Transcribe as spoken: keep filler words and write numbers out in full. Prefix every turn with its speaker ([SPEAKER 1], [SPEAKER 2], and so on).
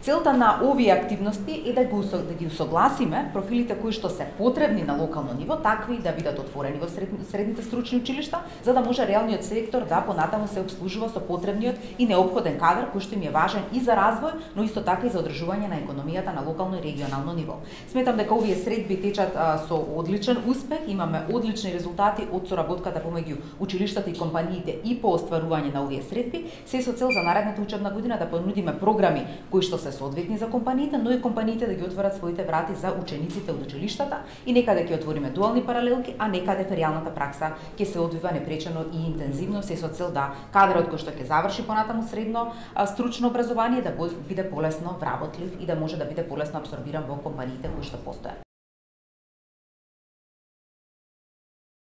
[SPEAKER 1] Целта на овие активности е да го да ги усогласиме профилите кои што се потребни на локално ниво, такви да бидат отворени во средните стручни училишта, за да може реалниот сектор да понатаму се обслужува со потребниот и неопходен кадар кој што им е важен и за развој, но исто така и за одржување на економијата на локално и регионално ниво. Сметам дека овие средби течат а, со одличен успех, имаме одлични резултати од соработката помеѓу училиштата и компаниите и по остварување на овие средби, се со цел за наредната учебна година да понудиме програми кои што се соодветни за компаниите, но и компаниите да ги отворат своите врати за учениците од училиштата и некаде ќе отвориме дуални паралелки, а некаде феријалната пракса ќе се одвива непречено и интензивно, се со цел да кадрот кој што ќе заврши понатаму средно а, стручно образование да биде полесно вработлив и да може да биде полесно апсорбиран во компаниите кои што постојат.